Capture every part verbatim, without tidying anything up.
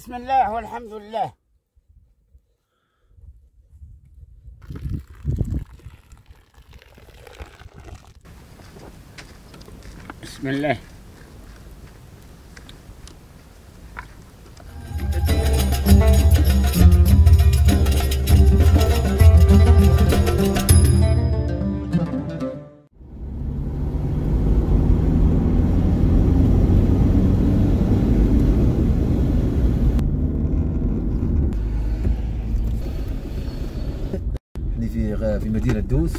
بسم الله والحمد لله. بسم الله. في في مدينة دوس.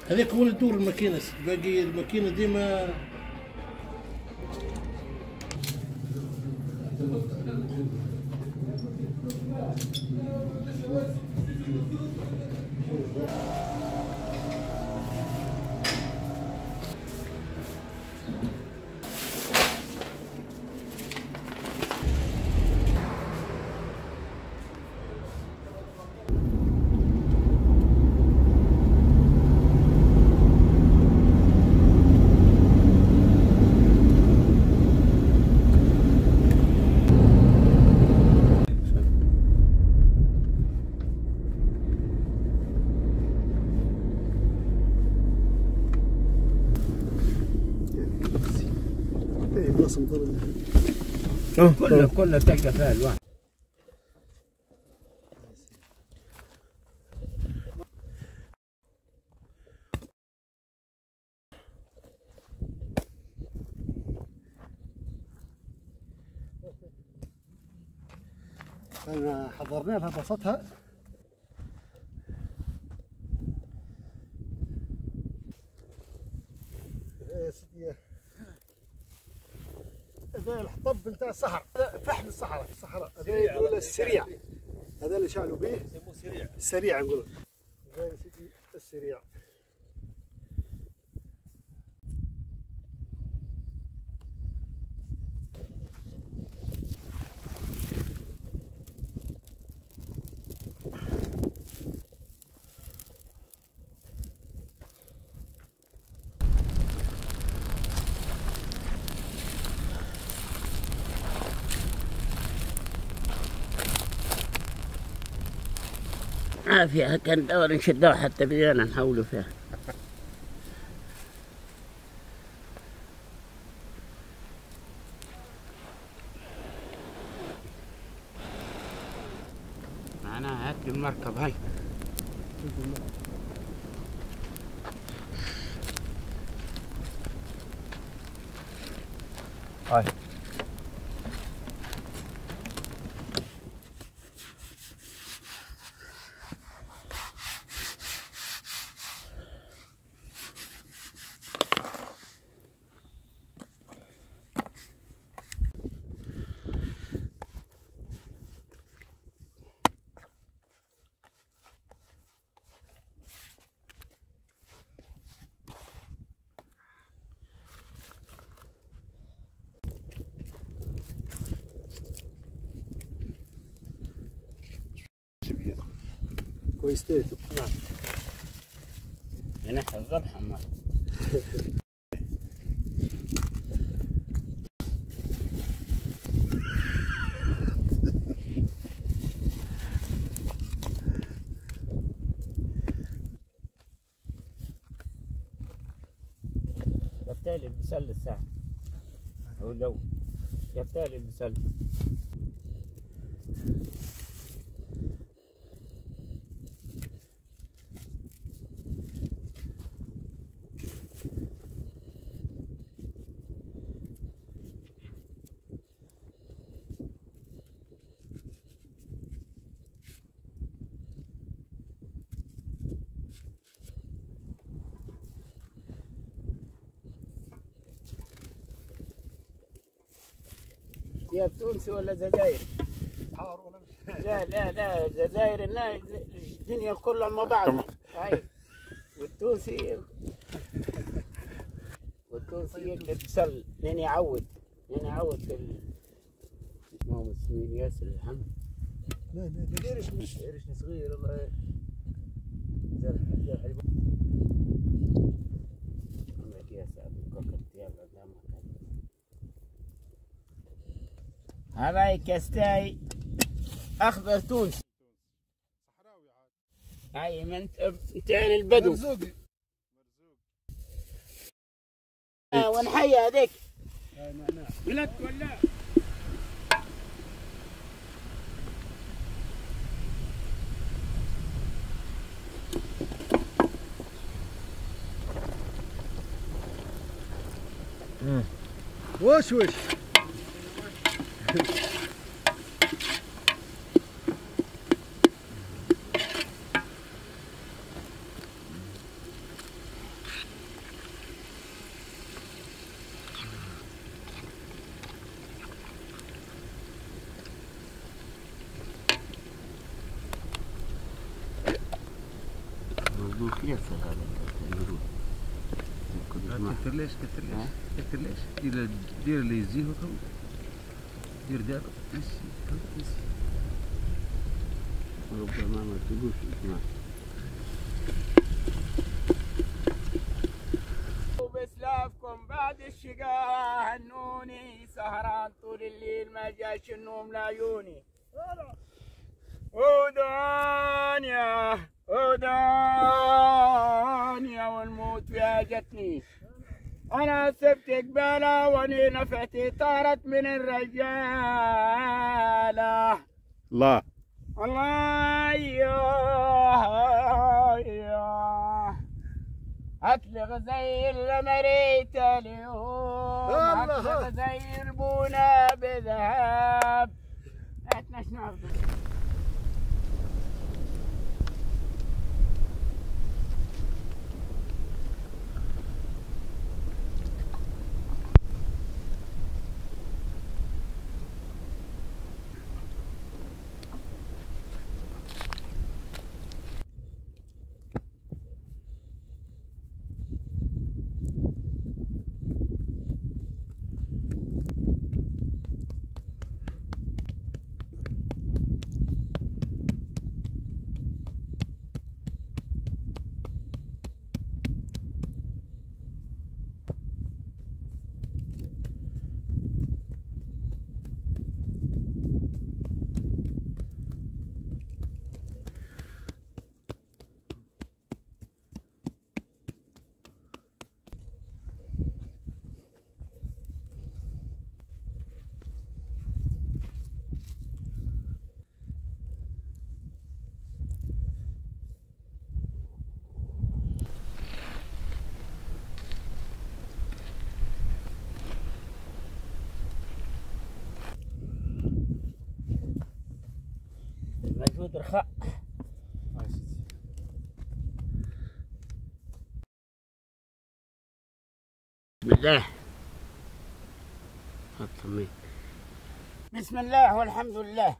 هذاك هو اللي تدور الماكينة، باقي الماكينة ديما كله كله تلقى فيها الواحد. حضرنا لها بسطها. يا سيدي هذا الحطب نتاع الصحراء، فحم الصحراء، الصحراء هذا يقول السريع، هذا اللي شعلوا به يسموه سريع، السريع نقول هذا يا سيدي السريع. عافية كان دور نشدوها حتى بدينا نحولوا فيها. معناها هات المركب هاي. هاي كويس. نعم نحن الذبح ما يفتالي البسل الساعة أو لو يفتالي البسل. يا تونسي ولا جزائري؟ لا لا لا الجزائر الدنيا كلها مع بعض. هاي والتونسي والتونسي يقلب بسل لين يعود لين يعود في ال... ما هو مسمين ياسر الحمد. لا لا ما ديرش مش قرشني صغير الله زال زال حليب. هذا كاستاي اخضر تونسي صحراوي عاد. هاي من تاع البدو. مرزوقي مرزوق. ونحيي هذيك. بلد ولا وش وش مظبوط ياسر هذا. كثر ليش كثر ليش كثر ليش دير دير اللي يزيه وكم دير دابا بس بس ربما ما تقولش اسمع. وبسلافكم بعد الشقاء هنوني سهران طول الليل ما جاش النوم لعيوني. ودانيا ودانيا والموت فيها جتني. أنا سبت قبالة وأني نفعتي طارت من الرجالة. الله الله يا يا أطلق زي المريت اليوم، أطلق زي البنا بذهب. هاتنا شنو المجهود رخاء. بسم الله. بسم الله والحمد لله.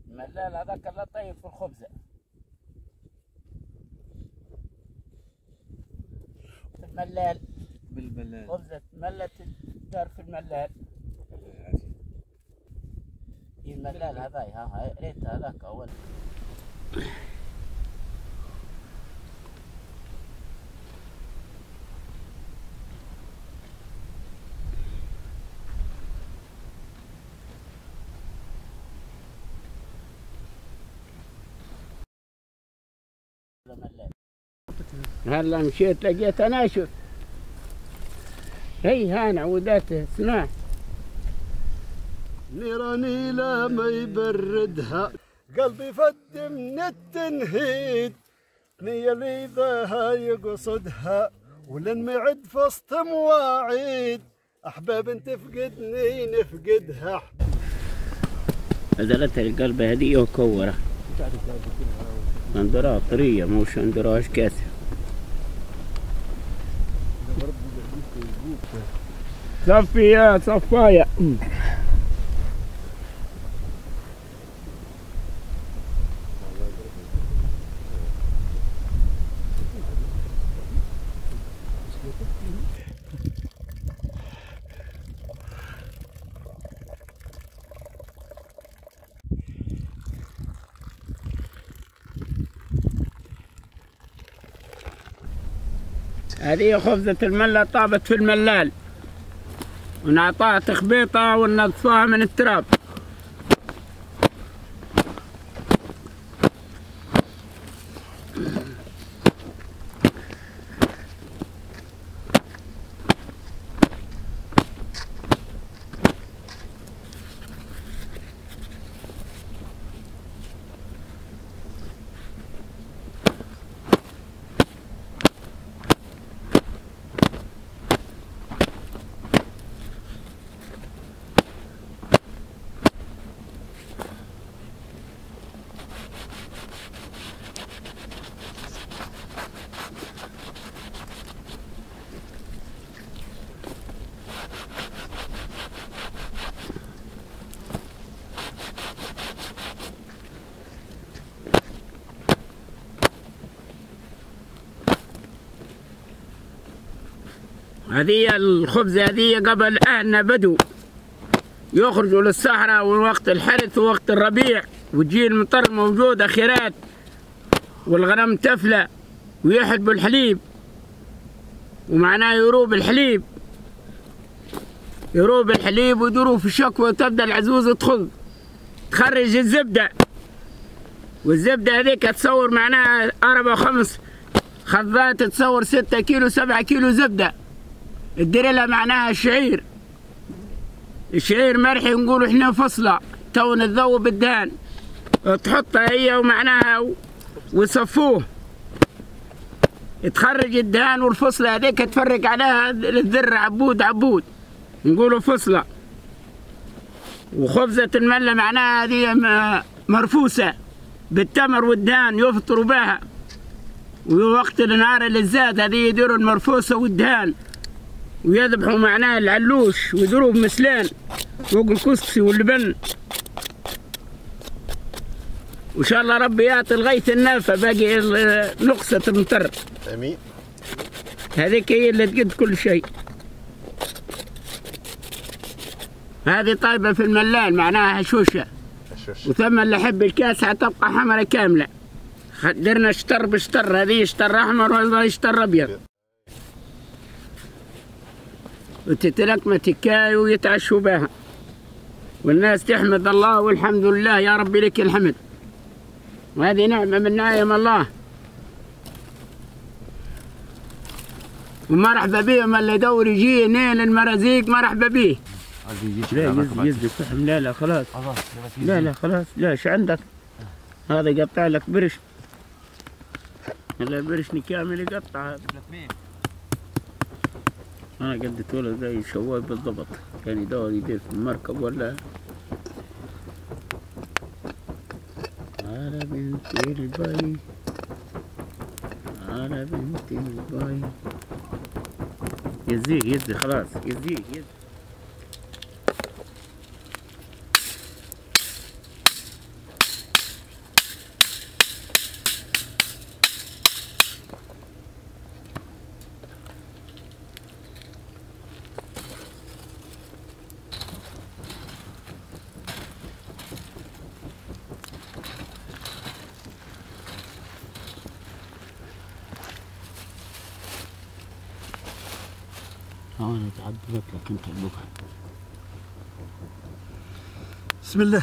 الملال هذاك اللي طيب في الخبزة. الملال بالملال خبزة ملت دار في الملال. الملال هذاي ها ريت هذاك أول. هلا مشيت لقيت انا شوف هي هان عودات اسمع نيراني لا ما يبردها. قلبي فد من التنهيد، نية اللي ذاها يقصدها ولن معد فسط مواعيد، احباب تفقدني نفقدها. نزلتها القلب هذه وكوره اندراها طرية موش اندراهاش كاسه. صفي يا صفايا. هذه خبزة الملة طابت في الملال ونعطاها تخبيطة وننظفوها من التراب. هذه الخبزة هذه قبل أهلنا بدو يخرجوا للصحراء ووقت الحرث ووقت الربيع وتجي المطر موجودة خيرات والغنم تفلى ويحلبوا الحليب، ومعناه يروب الحليب يروب الحليب ويدوروا في الشكوى وتبدا العزوز تخض تخرج الزبدة، والزبدة هذيك تصور معناها أربع وخمس خضات تصور ستة كيلو سبعة كيلو زبدة. تدير لها معناها الشعير، الشعير مرحي نقولوا احنا فصلة تو نذوب الدهان، تحطها هي ومعناها ويصفوه تخرج الدهان والفصلة هذيك تفرق عليها الذر عبود عبود نقولوا فصلة. وخبزة الملة معناها هذه مرفوسة بالتمر والدهان يفطروا بها، ووقت النهار اللي زاد هذه يديروا المرفوسة والدهان ويذبحوا معناه العلوش ويديروه بمسلان فوق الكسكسي واللبن. وان شاء الله ربي يعطي الغيث النافع باقي نقصة المطر. امين. هذيك هي اللي تقد كل شيء. هذه طيبة في الملال معناها هشوشة. وثم اللي يحب الكاسة تبقى حمراء كاملة. درنا شطر بشطر، هذه شطر احمر وهذا شطر ابيض. وتتلكم تكاي ويتعشوا بها والناس تحمد الله والحمد لله يا ربي لك الحمد، وهذه نعمة من نعم الله. ومرحبا بهم اللي يدور يجي نيل المرازيق مرحبا به. لا يزي فحم، لا لا خلاص، لا لا خلاص، لا ايش عندك؟ هذا يقطع لك برش، هذا برشني كامل يقطع هذا. أنا قد ولد زي شواي بالضبط، كان يدور يدير في المركب ولا على بنت البي على بنت البي. يزيك يزي خلاص يزيك يزي. أنا تعبت لك أنت بكرة. بسم الله.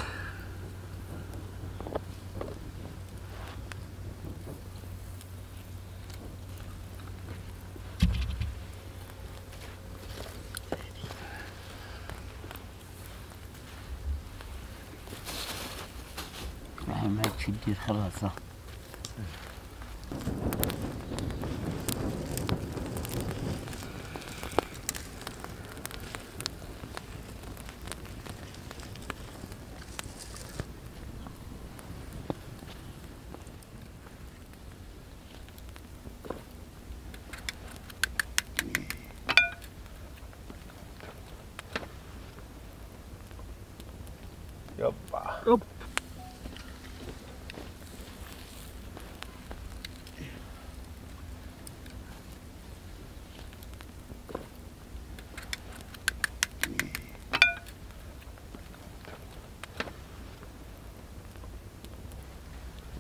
دير خلاص. يبا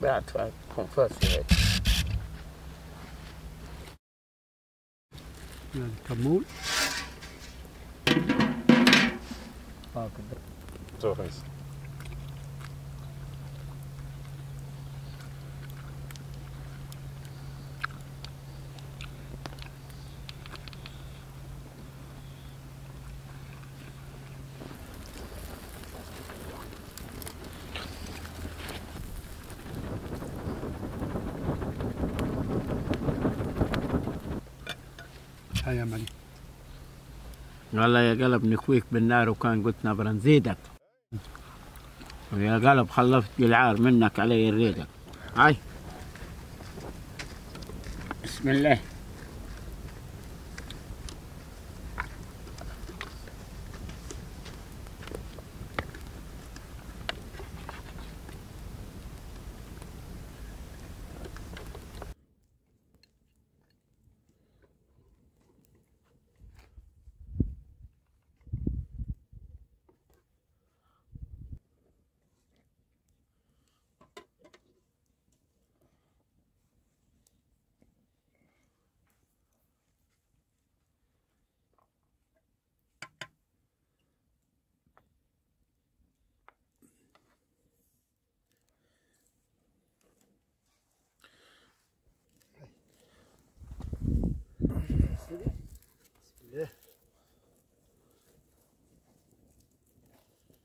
بعد كونفاسي هيك. هذا كمون. خمسة. هيا معلم. والله يا قلب نكويك بالنار وكان قلت نبرا نزيدك. ويا قلب خلفت العار منك علي الريدك. هاي بسم الله.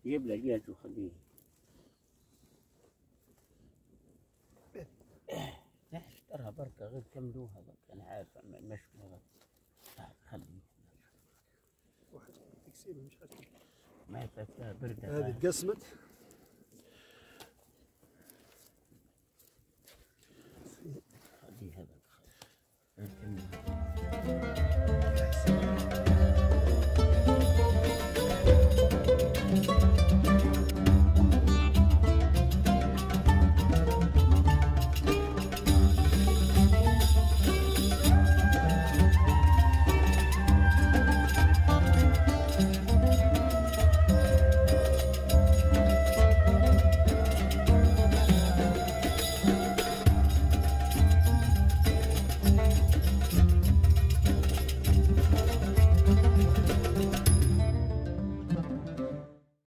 جيب لك جاز وخليه. لا اشترها بركة غير كملوها بركة، أنا عارف المشكلة. خليه واحد تكسيبه مش عارف ما فاتها بردة. هذه تقسمت.